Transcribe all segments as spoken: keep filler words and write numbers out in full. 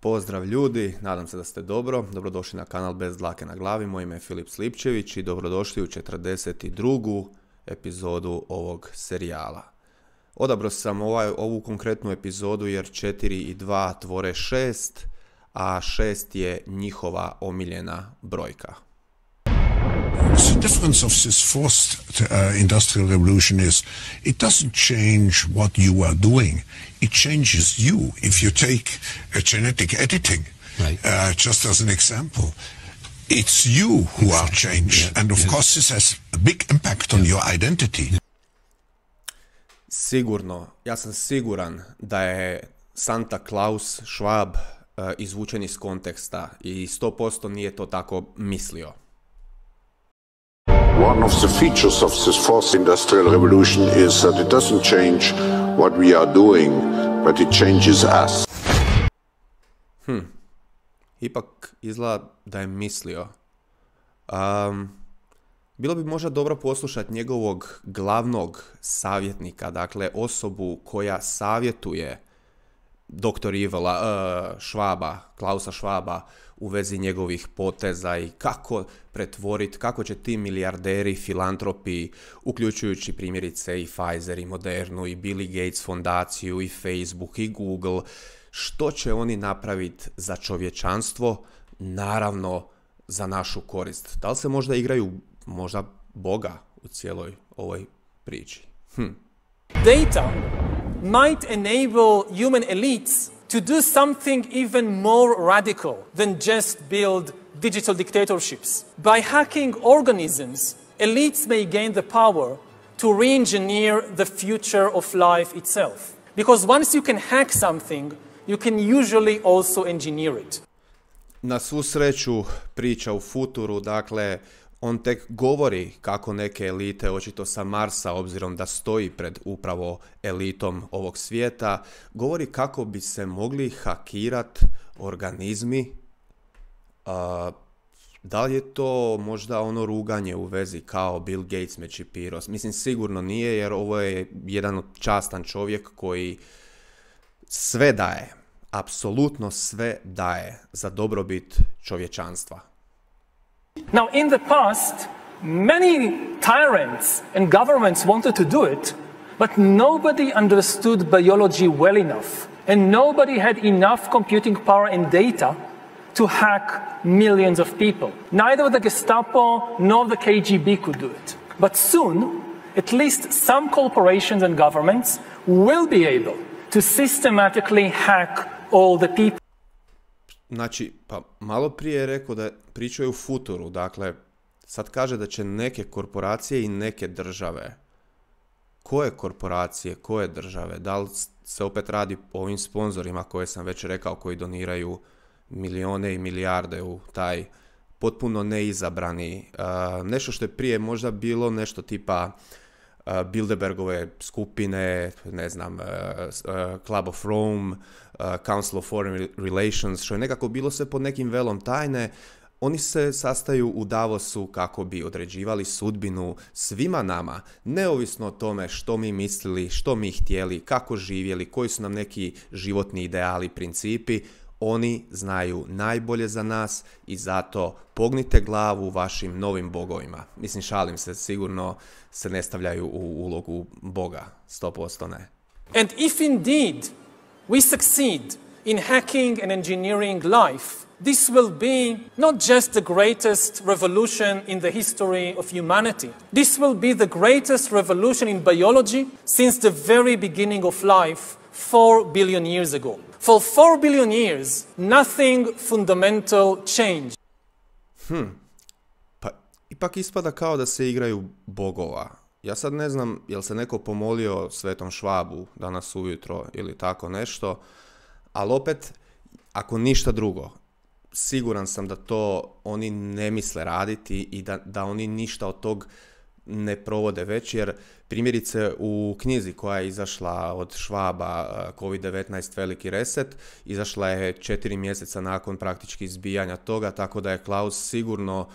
Pozdrav ljudi, nadam se da ste dobro. Dobrodošli na kanal Bez dlake na glavi. Moje ime je Filip Slipčević i dobrodošli u četrdeset drugu epizodu ovog serijala. Odabrao sam ovaj, ovu konkretnu epizodu jer četiri i dva tvore šest, a šest je njihova omiljena brojka. The difference of this fourth uh, industrial revolution is it doesn't change what you are doing. It changes you. If you take uh, genetic editing, right. uh, just as an example, it's you who are changed. Yeah. And of yeah. course this has a big impact on yeah. your identity. Sigurno, ja sam siguran da je Santa Claus Schwab uh, izvučen iz konteksta i sto posto nije to tako mislio. One of the features of this fourth industrial revolution is that it doesn't change what we are doing, but it changes us. Hm. Ipak izgleda da je mislio. Um, bilo bi možda dobro poslušati njegovog glavnog savjetnika, dakle osobu koja savjetuje doktor Ivela, uh, Schwaba, Klausa Schwaba u vezi njegovih poteza i kako pretvoriti, kako će ti milijarderi, filantropi, uključujući primjerice i Pfizer i Modernu i Billy Gates fondaciju i Facebook i Google, što će oni napraviti za čovječanstvo, naravno za našu korist. Da li se možda igraju možda Boga u cijeloj ovoj priči? Hm. Data might enable human elites to do something even more radical than just build digital dictatorships. By hacking organisms, elites may gain the power to re-engineer the future of life itself. Because once you can hack something, you can usually also engineer it. Na svu sreću priča u futuru, dakle, on tek govori kako neke elite, očito sa Marsa, obzirom da stoji pred upravo elitom ovog svijeta, govori kako bi se mogli hakirat organizmi. Uh, da li je to možda ono ruganje u vezi kao Bill Gates me čipirao? Mislim, sigurno nije, jer ovo je jedan častan čovjek koji sve daje, apsolutno sve daje za dobrobit čovječanstva. Now, in the past, many tyrants and governments wanted to do it, but nobody understood biology well enough, and nobody had enough computing power and data to hack millions of people. Neither the Gestapo nor the K G B could do it. But soon, at least some corporations and governments will be able to systematically hack all the people. Znači, pa malo prije je rekao da pričaju u futuru, dakle, sad kaže da će neke korporacije i neke države. Koje korporacije, koje države? Da li se opet radi o ovim sponzorima koje sam već rekao, koji doniraju milijone i milijarde u taj potpuno neizabrani, uh, nešto što je prije možda bilo nešto tipa uh, Bilderbergove skupine, ne znam, uh, uh, Club of Rome, uh, Council of Foreign Relations, što je nekako bilo sve pod nekim velom tajne. Oni se sastaju u Davosu kako bi određivali sudbinu svima nama, neovisno o tome što mi mislili, što mi htjeli, kako živjeli, koji su nam neki životni ideali, principi. Oni znaju najbolje za nas i zato pognite glavu vašim novim bogovima. Mislim, šalim se, sigurno se ne stavljaju u ulogu Boga, sto posto ne. And if indeed we succeed in hacking and engineering life, this will be not just the greatest revolution in the history of humanity. This will be the greatest revolution in biology since the very beginning of life four billion years ago. For four billion years, nothing fundamental changed. Hm, pa ipak ispada kao da se igraju bogova. Ja sad ne znam jel se neko pomolio Svetom Švabu danas ujutro ili tako nešto, ali opet, ako ništa drugo, siguran sam da to oni ne misle raditi i da, da oni ništa od tog ne provode već, jer primjerice u knjizi koja je izašla od Švaba, kovid devetnaest veliki reset, izašla je četiri mjeseca nakon praktički izbijanja toga, tako da je Klaus sigurno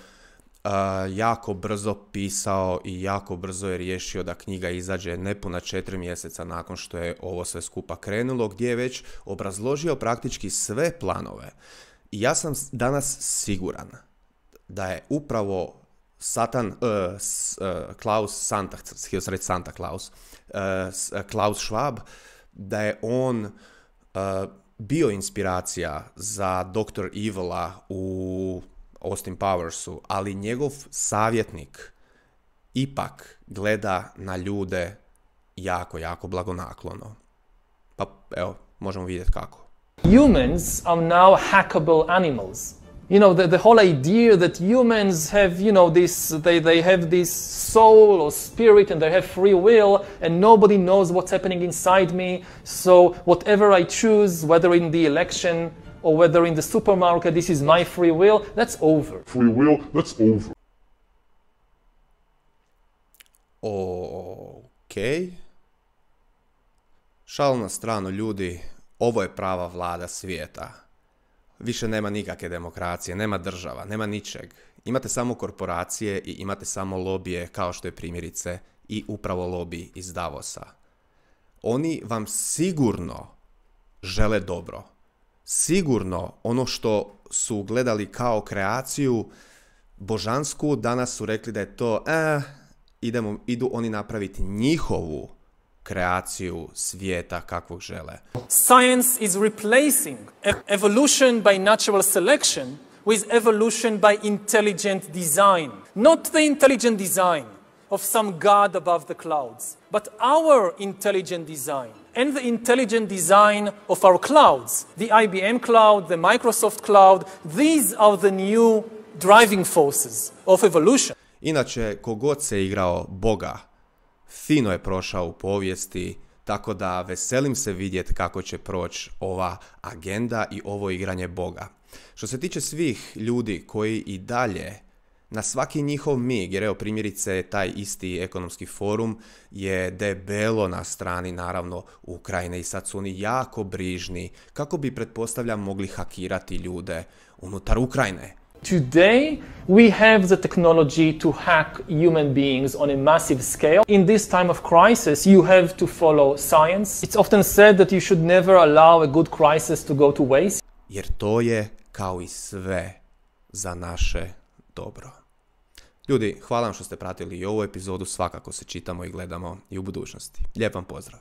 jako brzo pisao i jako brzo je riješio da knjiga izađe nepuna četiri mjeseca nakon što je ovo sve skupa krenulo, gdje je već obrazložio praktički sve planove. I ja sam danas siguran da je upravo Satan, uh, uh, Klaus Santa, htio sam reći Santa Klaus, uh, Klaus Schwab, da je on uh, bio inspiracija za doktor Evila u Austin Powersu, ali njegov savjetnik ipak gleda na ljude jako, jako blagonaklono. Pa evo, možemo vidjeti kako. Humans are now hackable animals. You know, the, the whole idea that humans have, you know, this, they, they have this soul or spirit and they have free will and nobody knows what's happening inside me. So whatever I choose, whether in the election or whether in the supermarket, this is my free will, that's over. Free will, that's over. Ok. Šal na stranu, ljudi, ovo je prava vlada svijeta. Više nema nikakve demokracije, nema država, nema ničeg. Imate samo korporacije i imate samo lobije, kao što je primjerice i upravo lobij iz Davosa. Oni vam sigurno žele dobro. Sigurno ono što su gledali kao kreaciju božansku, danas su rekli da je to, eh, idemo, idu oni napraviti njihovu kreaciju svijeta kakvog žele. Science is replacing evolution by natural selection with evolution by intelligent design. Not the intelligent design of some god above the clouds, but our intelligent design and the intelligent design of our clouds. The I B M cloud, the Microsoft cloud, these are the new driving forces of evolution. Inače, kogod se igrao Boga, fino je prošao u povijesti, tako da veselim se vidjeti kako će proći ova agenda i ovo igranje Boga. Što se tiče svih ljudi koji i dalje na svaki njihov mig, jer evo primjerice taj isti ekonomski forum je debelo na strani naravno Ukrajine i sad su oni jako brižni kako bi, pretpostavljam, mogli hakirati ljude unutar Ukrajine. Today, we have the technology to hack human beings on a massive scale. In this time of crisis, you have to follow science. It's often said that you should never allow a good crisis to go to waste. Jer to je, kao i sve, za naše dobro. Ljudi, hvala vam što ste pratili i ovu epizodu, svakako se čitamo i gledamo i u budućnosti. Lijep vam pozdrav!